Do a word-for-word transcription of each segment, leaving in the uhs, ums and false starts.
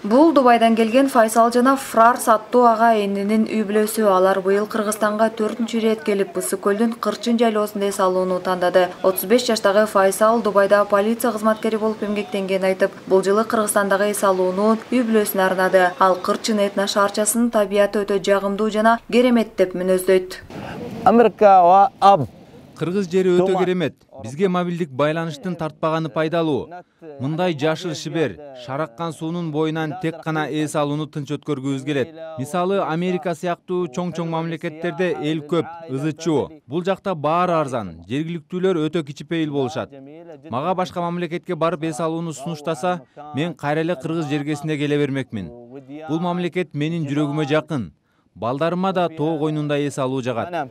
Бул Дубайдан келген Файсал жана Фрарс аттуу ага энинин үй бүлөсү. Алар быйыл Кыргызстанга төртүнчү ирет келип, Ысык көлдүн Кырчын жайлоосунда эс алууну тандады. отуз беш жаштагы Файсал Дубайда полиция кызматкери болуп эмгектенгенин айтып, бул жылы Кыргызстандагы эс алууну үй бүлөсүнө арнады. Ал Кырчын этно шаарчасынын табияты өтө жагымдуу жана керемет деп мүнөздөйт. Америка аб Кыргыз жери өтө керемет. Бизге мобилдик байланыштын тартпаганы пайдалуу. Мындай жашыл шибер, шараккан суунун боюнан тек гана эс алууну тынч өткөргүбүз келет. Мисалы, Америка сыяктуу чоң-чоң мамлекеттерде эл көп, ызычуу. Бул жакта баары арзан, жергиликтүүлөр өтө кичипейил болушат. Мага башка мамлекетке барып эс алууну сунуштаса, мен кайра эле Кыргыз жергесине келе бермекмин. Бул мамлекет менин жүрөгүмө жакын. Балдарыма да тоо койнунда эс алуу жагат.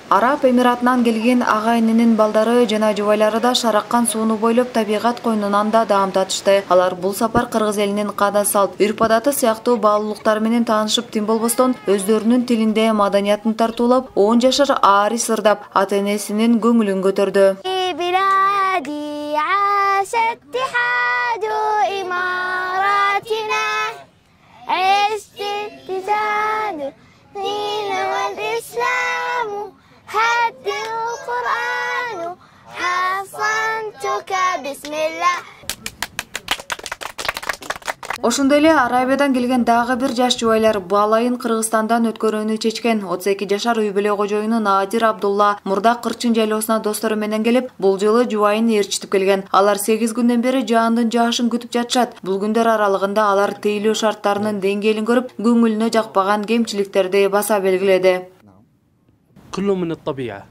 Араб Эмиратынан келген ага энинин балдары жана жубайлары да шараккан сууну бойлоп табигат койнунан да даам татышты. Алар бул сапар Кыргыз элинин када салт, үрп-адаты сыяктуу баалуулуктары менен таанышып тим болбостон, өздөрүнүн тилинде маданиятын тартуулап, он жашар Арис ырдап, ата-энесинин көңүлүн көтөрдү. Ошондой эле Арабиядан келген дагы бир жаш жубайлар балайын Кыргызстандан өткөрүүнү чечкен. отуз эки жашар үй бүлө кожоюну Надир Абдулла мурда Кырчын жайлоосуна достору менен келип, бул жылы жубайын ээрчитип келген. Алар сегиз күндөн бери жаандын жаашын күтүп жатышат. Бул күндөр аралыгында алар тейлөө шарттарынын деңгээлин көрүп, көңүлүнө жакпаган кемчиликтерди баса белгиледи.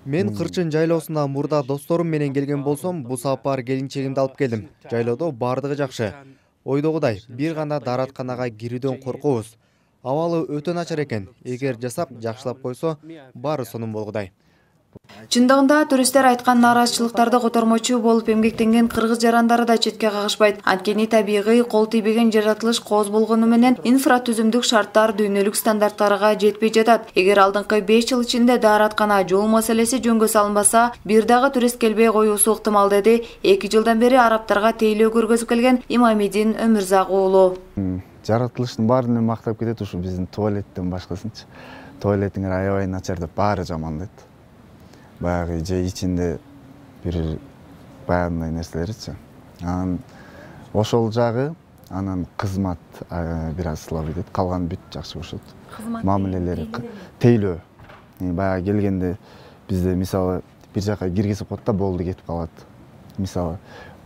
Мен Кырчын жайлоосуна мурда досторум менен келген болсом, бул сапар келинчегимди алып келдим. Жайлоодо бардыгы жакшы. Ойдогудай, бир гана дааратканага кирүүдөн коркобуз. Абалы өтө начар экен. Эгер жасап, жакшылап койсо, баары сонун болгудай. Чындыгында туристтер айткан нааразычылыктарды котормочу болуп эмгектенген кыргыз жарандары да четке кагышпайт. Анткени табигый кол тийбеген жаратылыш кооз болгону менен инфратүзүмдүк шарттар дүйнөлүк стандарттарга жетпей жатат. Эгер алдыңкы беш жыл ичинде даараткана, жол маселеси жөнгө салынбаса, бир дагы турист келбей коюусу ыктымал, деди эки жылдан бери араптарга тейлөө көргөзүп келген Имамидин Өмүрзак уулу. Жаратылыштын баарын мактап кетет ушу биздин туалеттен башкасынчы. Туалетиңер аябай начар деп баары жамандайт. Баягы же ичинде бир баягындай нерселерчи. Анан ошол жагы, анан кызмат бир аз слабый дейт. Калган бүт жакшы болушот. Мамилелери тейлөө. Баягы келгенде бизде мисалы бир жака киргизип коет да болду кетип калат. Мисалы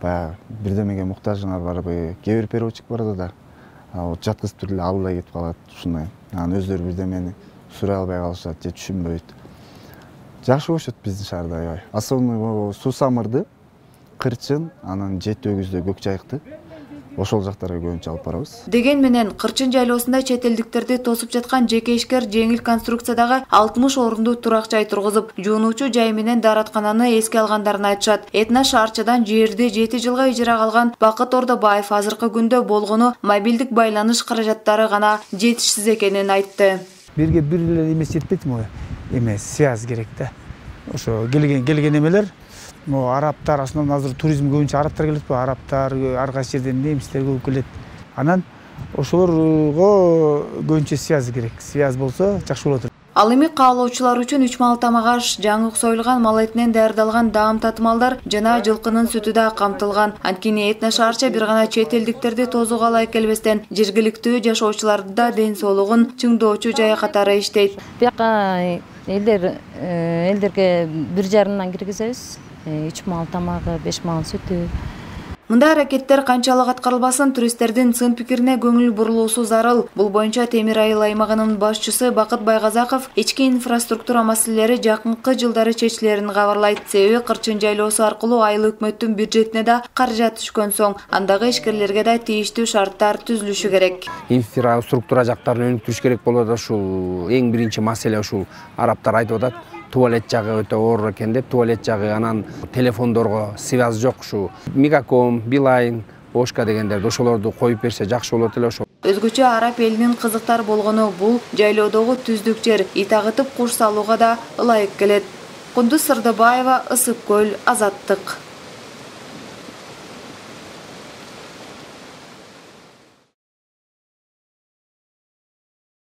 баягы бирдемеге муктажыңар барбы, кээ бир переводчик бар да. Ал жаткызып эле албай кетип калат ушундай. Анан өздөрү бирдемени сурай албай калышат же түшүнбөйт. Жакшы болушот биздин шаарда аябай. Особенно суу самырды, Кырчын, анан жети өгүздө көк жайыкты. Ошол жактарга көбүнчө алып барабыз. Деген менен Кырчын жайлоосунда чет элдиктерди тосуп жаткан жеке ишкер жеңил конструкциядагы алтымыш орунду турак жай тургузуп, жуунуучу жай менен даараткананы эске алгандарын айтышат. Этно шаарчадан жерди жети жылга ижарага алган Бакыт Ордобаев азыркы күндө болгону мобилдик байланыш каражаттары гана жетишсиз экенин айтты. Бирге бир эле эмес жетпейт му? Эмес, связь керек да. Ошо келген келген эмелер, могу арабтар, основном азыр туризм көбүнчө арабтар келет го, арабтар, ар кайсы жерден немистер көп келет. Анан ошолорго көбүнчө связь керек. Связь болсо жакшы болот. Ал эми каалоочулар үчүн үч мал тамак аш, жаңы союлган мал этинен даярдалган даам татымалдар жана жылкынын сүтү да камтылган. Анткени этно шаарча бир гана чет элдиктерди тозууга ылайык келбестен, жергиликтүү жашоочулардын да ден соолугун чыңдоочу жай катары иштейт. Бияка элдер элдерге бир жарымдан киргизебиз. үч мал тамагы, беш мал сүтү. Мындай аракеттер канчалык аткарылбасын, туристтердин сын пикирине көңүл бурулуусу зарыл. Бул боюнча Темир Айыл аймагынын башчысы Бакыт Байгазаков ички инфраструктура маселелери жакынкы жылдары чечилерин кабарлайт. Себеби Кырчын жайлоосу аркылуу айыл өкмөттүн бюджетине да каражат түшкөн соң, андагы ишкерлерге да тийиштүү шарттар түзүлүшү керек. Инфраструктура жактарын өнүктүрүш керек болот. Ушул эң биринчи маселе ушул. Араптар айтып атат, туалет жагы өтө оор экен деп, туалет жагы, анан телефондорго связь жок, ушу Мегаком, Билайн, Ошка дегендерди ошолорду коюп берсе жакшы болот эле ошол. Өзгөчө араб элинин кызыктар болгону бул жайлоодогу түздүк жер, ит агытып куш салууга да ылайык келет. Кундуз Сырдыбаева, Ысык көл, Азаттык.